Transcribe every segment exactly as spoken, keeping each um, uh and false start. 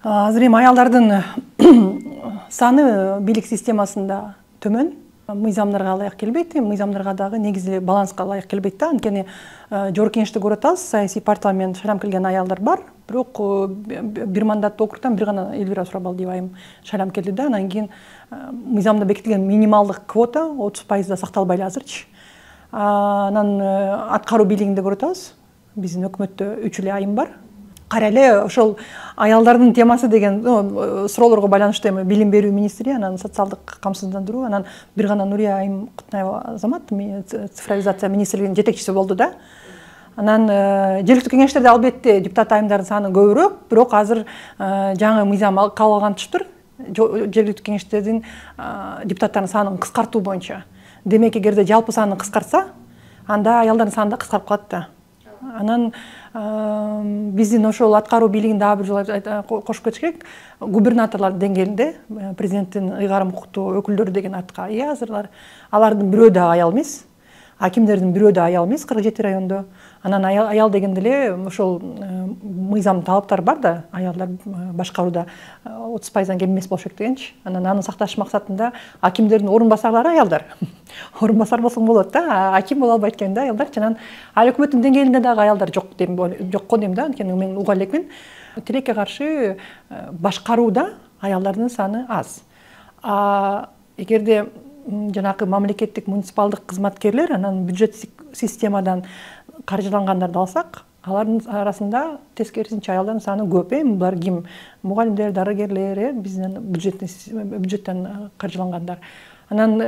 Азыр эми аялдардын саны бийлик системасында төмөн. Мыйзамдарга ылайык келбейт, мыйзамдарга дагы негизи баланска ылайык келбейт да. Анткени жогорку кеңеште көрүп атабыз, саясий партиялар шайланып келген аялдар бар, бирок бир мандаттуу округдан бир гана Элвира Сурабалдиева айым шайланып келди да. Анан кийин мыйзамда бекитилген минималдык квота отуз пайызда сакталбай эле азырчы. Анан аткаруу бийлигинде көрүп атабыз, биздин өкмөттө үч эле айым бар. Кара эле ошол аялдардын темасы деген суроолорго байланыштуу эми билим берүү министри, анан социалдык камсыздандыруу, анан бир гана Нурия айым Кутнаева Азамат цифровизация министрлигинин жетекчиси болду да. Анан жергиликтүү кеңештерде албетте депутат айымдардын саны көбүрөөк, бирок азыр жаңы мыйзам кабыл алгантыштыр. Жергиликтүү кеңештердин депутаттарынын санын кыскартуу боюнча. Демек, эгерде жалпы саны кыскартса, анда аялдардын саны да кыскарып калат да. Анан биздин ошол аткаруу бийлигин дагы бир жолу кошуп кетиш керек. Губернаторлор деңгээлинде президенттин ыйгарым укуктуу өкүлдөрү деген атка ээ азырлар. Алардын бирөө да аял эмес. Акимдердин бирөө да аял эмес кырк жети райондо. Анан аял, аял дегенде эле ошол мыйзам талаптары бар да, аялдар башкарууда отуз пайыздан кем эмес болуш керек дегенчи. Анан аны сакташ максатында акимдердин орун басарлары аялдар. Орун басар болсоң болот да, аким боло албайт экен да аялдарчы. Анан ал өкмөттүн деңгээлинде дагы аялдар жок дейм, жокко дейм да, анткени мен уга элекмин. Тилекке каршы башкарууда аялдардын саны аз. А эгерде жанакы мамлекеттик муниципалдык кызматкерлер анан бюджет системадан каржылангандарды алсак, алардын арасында тескерисинче аялдардын саны көп. Эми булар ким? Мугалимдер, дарыгерлер, биздин бюджеттен каржылангандар. Анан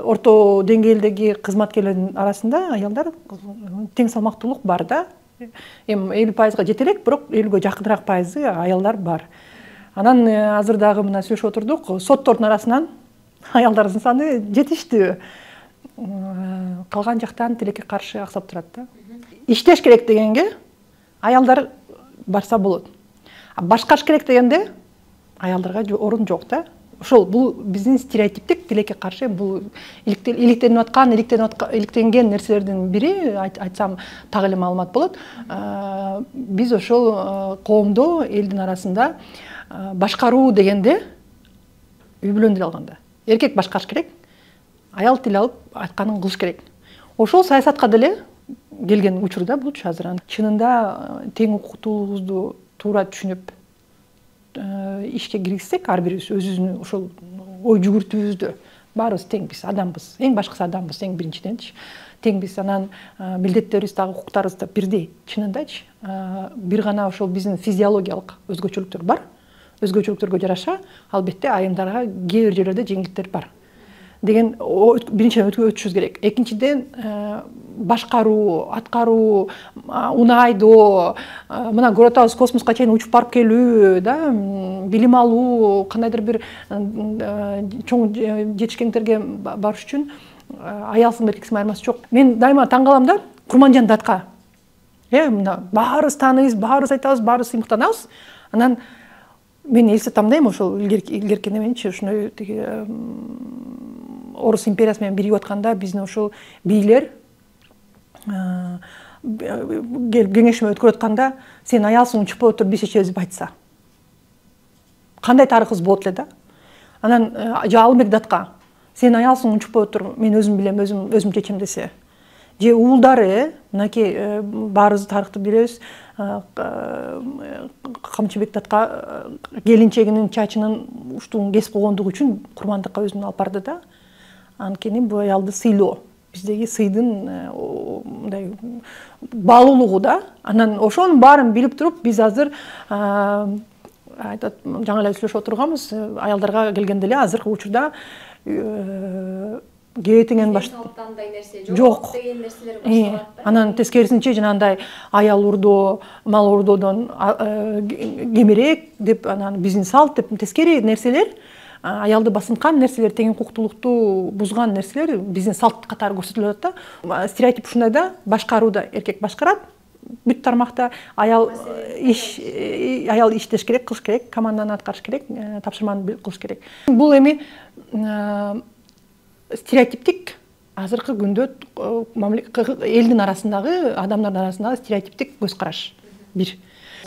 орто деңгээлдеги кызматкерлердин арасында аялдар тең салмактуулук бар да. Эми элүү пайызга жете элек, бирок элүүгө жакыныраак пайызы аялдар бар. Анан азыр дагы мына сүйлөшүп отурдук, соттордун арасынан аялдардын саны жетиштүү. Калган жактан тилекке каршы аксап турат да. Иштеш керек дегенге аялдар барса болот. Башкарыш керек дегенде аялдарга орун жок да. Ошол бул биздин стереотиптик тилекке каршы, бул иликтенип аткан, иликтенген нерселердин бири, айтсам так эле маалымат болот. Биз ошол коомдо, элдин арасында башкаруу дегенде үй бүлөнү тил алганда эркек башкарыш керек, аял тил алып айтканын кылыш керек. Ошол саясатка деле келген учурда булчу азыр. Чынында тең укуктуулугубузду туура түшүнүп ишке киргизсек, ар бирибиз өзүбүздүн ошол ой жүгүртүүбүздө баарыбыз теңбиз, адамбыз. Эң башкысы адамбыз, эң биринчиденчи. Теңбиз, анан милдеттерибиз дагы укуктарыбыз да бирдей. Чынындачы, бир гана ошол биздин физиологиялык өзгөчөлүктөр бар. Өзгөчөлүктөргө жараша, албетте айымдарга кээ бир жерлерде жеңилдиктер бар деген биринчиден өтүшүбүз керек. Экинчиден, башкаруу, аткаруу, унайдоо, мына көрүп атабыз, космоска чейин учуп барып келүү, да, билим алуу, кандайдыр бир чоң жетишкендерге барыш үчүн аялсың эркексиң айырмасы жок. Мен дайыма таң калам да, Курманжан датка. Э, мына баарыбыз тааныйбыз, баарыбыз айтабыз, баарыбыз сыймыктанабыз. Анан мен элестетем да, эми ошол илгерки неменчи, ушуну тиги Орус империясы менен биригип атканда биздин ошол бийлер келип кеңешме өткөрүп атканда, сен аялсың, учпой отур, биз чечебиз деп айтса. Кандай тарыхыбыз болот эле да? Анан же Алымбек датка, сен аялсың, учпой отур, мен өзүм билем, өзүм өзүм чечем десе. Же уулдары, мынакей баарыбыз тарыхты билебиз, Камчыбек датка келинчегинин чачынын уштугун кесип койгондугу үчүн курмандыкка өзүн алып барды да. Анткени бул аялды сыйлоо, биздеги сыйдын мындай баалуулугу да. Анан ошонун баарын билип туруп, биз азыр айтат, жаңы эле сүйлөшүп отурганбыз, аялдарга келгенде эле азыркы учурда кебетеңен баш жок деген нерселер башталат. Анан тескерисинче жанагындай аял урдоо, мал урдоодон кемирээк деп, анан биздин салт деп тескери нерселер, аялды басынткан нерселер, тең укуктуулукту бузган нерселер биздин салт катары көрсөтүлүп атат да. Стереотип ушундай да, башкарууда эркек башкарат, бүт тармакта аял иш аял иштеш керек, кылыш керек, команданы аткарыш керек, тапшырманы кылыш керек. Бул эми стереотиптик азыркы күндө элдин арасындагы, адамдардын арасындагы стереотиптик көз караш. Бир.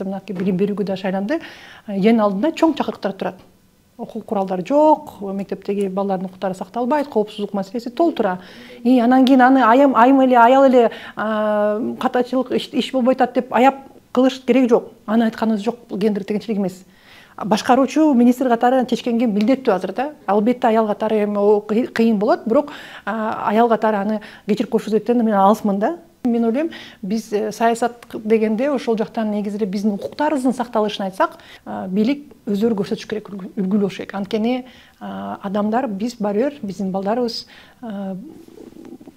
мынакей билим берүүгө да шайланды. Эң алдында чоң чакырыктар турат. Окуу куралдары жок, мектептеги балдардын укуктары сакталбайт, коопсуздук маселеси толтура. И анан кийин аны айым айым эле аял эле катачылык иш болбой атат деп аяп кылыш кереги жок. Аны айтканыбыз жок, гендер теңчилик эмес. Башкаруучу министр катары чечкенге милдеттүү азыр да. Албетте аял катары эми кыйын болот, бирок аял катары аны кечирип көрсөтөттөн мен алысмын да. Мен ойлойм, биз саясат дегенде ошол жактан негизи эле биздин укуктарыбыздын сакталышын айтсак, бийлик өздөрү көрсөтүш керек, үлгү болуш керек. Анткени адамдар, биз баары бир, биздин балдарыбыз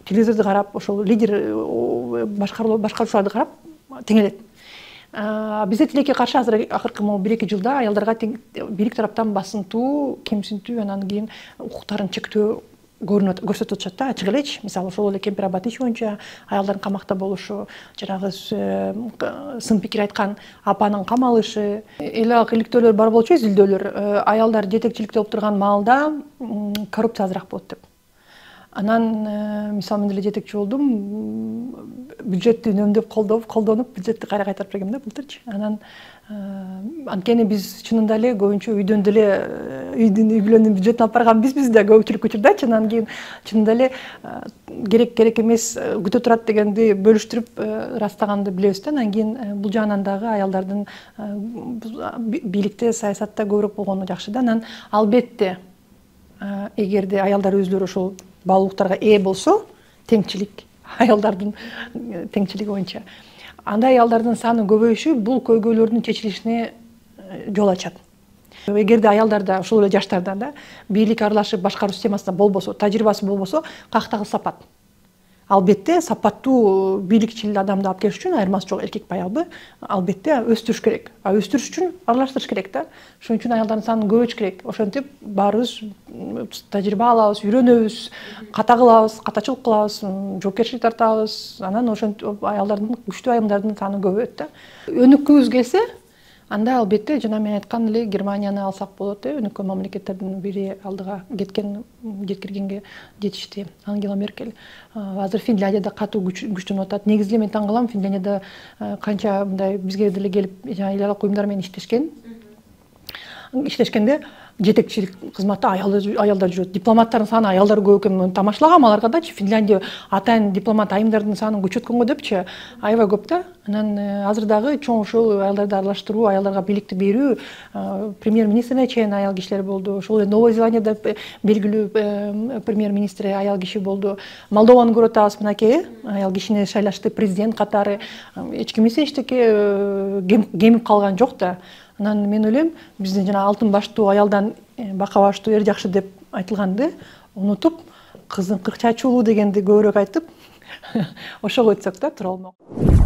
телевизорду карап, ошол лидер башкаруучуларды карап теңелет. Бизде тилекке каршы азыр акыркы бир эки жылда аялдарга бийлик тараптан басынтуу, кемсинтүү, анан кийин укуктарын чектөө көрсөтүп атышат да, ачык элечи. Мисалы ошол эле Кемпир Абат иши боюнча аялдардын камакта болушу, жанагы сын пикир айткан апанын камалышы, эл ак иликтөөлөр бар болчу, изилдөөлөр. Аялдар жетекчиликте болуп турган маалда коррупция азыраак болот деп. Анан мисалы мен деле жетекчи болдум, бюджетти үнөмдөп колдоп, колдонуп, бюджетти кайра кайтарып бергем да былтырчы. Анан анткени биз чынында эле көбүнчө үйдөн деле үйдүн үй бүлөнүн бюджетин алып барган бизбиз да көпчүлүк учурдачы. Анан кийин чынында эле керек керек эмес күтө турат дегенди бөлүштүрүп ырастаганды билебиз да. Анан кийин бул жагынан дагы аялдардын бийликте, саясатта көбүрөөк болгону жакшы да. Анан албетте эгерде аялдар өзүлөрү ошол баалуулуктарга ээ болсо, теңчилик, аялдардын теңчилиги боюнча, анда аялдардын саны көбөйүшү бул көйгөйлөрдүн чечилишине жол ачат. Эгерде аялдарда, ошол эле жаштарда да бийлик аралашып башкаруу системасында болбосо, тажрыйбасы болбосо, каяктагы сапат. Албетте сапаттуу бийликчил адамды алып келиш үчүн айырмасы жок, эркек аялды албетте өстүрүш керек. А өстүрүш үчүн аралаштырыш керек да. Ошон үчүн аялдардын санын көбөйтүш керек. Ошентип баарыбыз тажрыйба алабыз, үйрөнөбүз, ката кылабыз, катачылык кылабыз, жоопкерчилик тартабыз. Анан ошентип аялдардын, күчтүү айымдардын саны көбөйөт да. Өнүккүбүз келсе, анда албетте жана мен айткан эле Германияны алсак болот, өнүккөн мамлекеттердин бири алдыга кеткен, жеткиргенге жетишти. Ангела Меркель. Азыр Финляндияда катуу күчтөнүп атат. Негизи эле мен таң калам, Финляндияда канча мындай бизге деле келип эл аралык уюмдар менен иштешкен. Иштешкенде жетекчилик кызматта аялдар жүрөт. Дипломаттардын саны аялдар көп экен. Тамашалагам аларга дачы. Финляндия атайын дипломат айымдардын санын көчөткөнгө депчи, аябай көп да. Анан азыр дагы чоң ушул аялдарды аралаштыруу, аялдарга бийликти берүү, премьер-министрине чейин аял кишилер болду. Ошол эле Новая Зеландияда белгилүү премьер-министри аял киши болду. Молдованы көрүп атабыз, мынакей, аял кишини шайлашты президент катары. Эч ким эчтеке кемип калган жок да. Анан мен ойлойм, биздин жана алтын баштуу аялдан бака баштуу эр жакшы деп айтылганды унутуп, кыздын кырк чачуулуу дегенди көбүрөөк айтып, ошого өтсөк да тура болмок.